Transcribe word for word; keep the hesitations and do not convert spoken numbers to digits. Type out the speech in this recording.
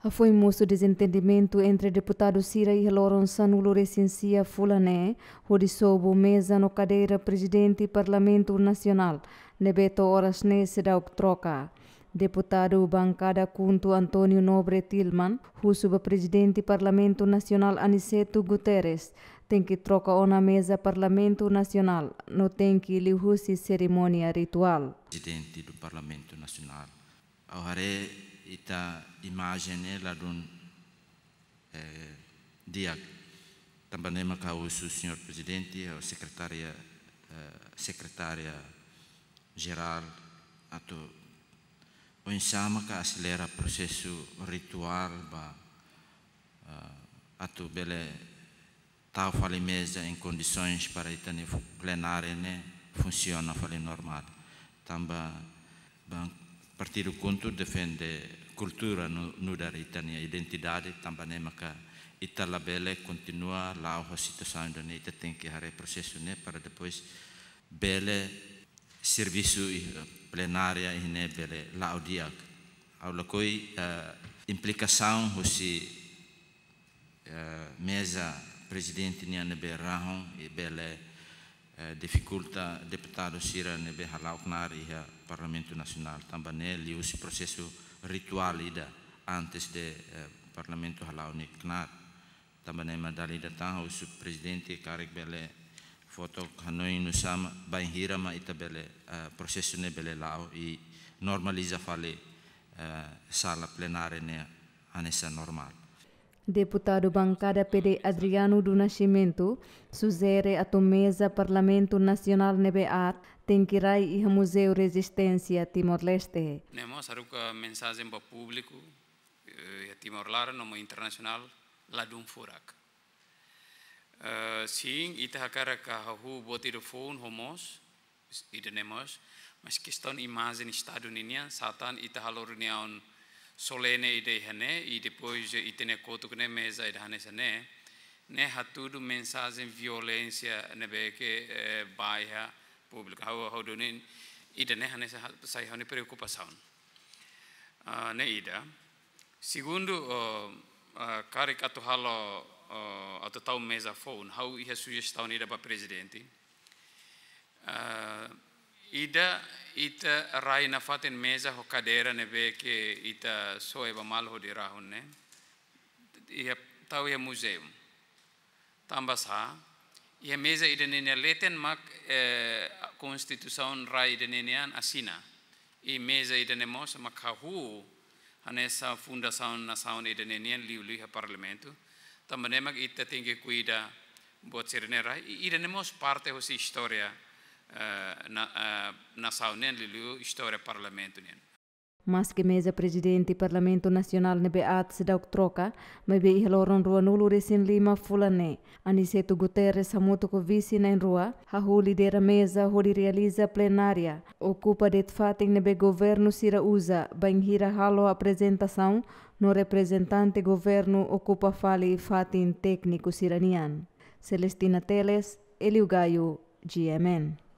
Hafoin mosu dezentendimentu entre deputadu sira iha loron sanulu-resin-sia fulan ne'e, hodi sobu meza no kadeira Prezidente Parlamentu Nasionál, ne'ebé to'o oras ne'e seidauk troka. Deputadu bankada KHUNTO António Nobre Tilman husu ba Prezidente Parlamentu Nasionál Aniceto Guterres tenke troka ona meza Parlamentu Nasionál no tenke liuhusi serimónia rituál. Prezidente do Parlamentu Nasionál. Ha'u haree ita imajen ne'e ladún, eh, di'ak. Tanba ne'e maka ha'u husu Señór Prezidente, ha'u sekretária, eh, sekretária jerál, atu oinsá maka aselera prosesu rituál ba, eh, atu bele tau fali meza em condições para ita-nia fu-, plenária ne'e funsiona fali normál. Tanba ba Partidu KHUNTO defende kultura nu-, nu'udar ita-nia identidade, tanba ne'e maka ita labele kontinua la'o ho situasaun ida-ne'e, ita tenke haree prosesu ne'e para depois bele servisu iha plenária iha ne'e bele la'o di'ak. Ha'u lakohi, eh, implikasaun husi eh, meza Prezidente nian ne'ebé rahun i bele, eh, difikulta deputadu sira ne'ebé hala'o knaar iha Parlamentu Nasionál. Tanba ne'e liuhusi prosesu rituál ida antes de, eh, Parlamentu hala'o nia knaar. Tanba ne'e mak dala ida tan husu Prezidente karik bele fó took hanoin nusá mak, bainhira mak ita bele, eh, prosesu ne'e bele la'o i normaliza fali, eh, sala plenária ne'e hanesan normál. Deputadu bankada PD Adriano do Nascimento sujere atu meza Parlamentu Nasionál ne'ebé aat tenke rai iha Muzeu Rezisténsia Timor-Leste. Ne'e mós haruka mensajen ba públiku, eh, iha Timor laran no mós internasionál, ladún furak. Eh, sin, ita hakarak hahú buat ida foun ho moos, ida-ne'e mós, mas kestaun imajen Estadu ninian, sá tan ita halo reuniaun solene ida iha ne'e, i depois ita-nia kotuk ne'e meza ida hanesan ne'e, ne'e hatudu mensajen violénsia ne'ebé ke, eh, ba iha públiku. Ha'u, ha'u duni ida-ne'e hanesan ha-, sai ha'u-nia preokupasaun. Ah, ne'e ida. Segundu, oh, ah, karik atu halo, oh, atu tau meza foun, ha'u iha sujestaun ida ba Prezidente. Ah, ida, ita rai nafatin meza ho kadeira ne'ebé ke ita soe ba malu hodi rahun ne'e. Iha, tau iha muzeu. Tanba sá, iha meza ida-ne'e nia leten mak, eh, Konstituisaun rai ida-ne'e nian asina. I meza ida-ne'e mós mak hahú hanesan fundasaun nasaun ida-ne'e nian liuliu iha Parlamentu. Tanba ne'e mak ita tenke kuida buat sira-ne'e rai. I ida-ne'e mós parte husi istória, eh, na-, eh, nasaun nian liuliu istória Parlamentu nian. Maske meza Prezidente Parlamentu Nasionál ne'ebé aat seidauk troka, maibé iha loron ruanulu-resin-lima fulan ne'e, Aniceto Guterres hamutuk ho vise na'in-rua, hahú lidera meza hodi realiza plenária, okupa de'it fatin ne'ebé governu sira uza, bainhira halo aprezentasaun no reprezentante governu okupa fali fatin tékniku sira-nian. Celestina Teles, Elio Gaio, G M N.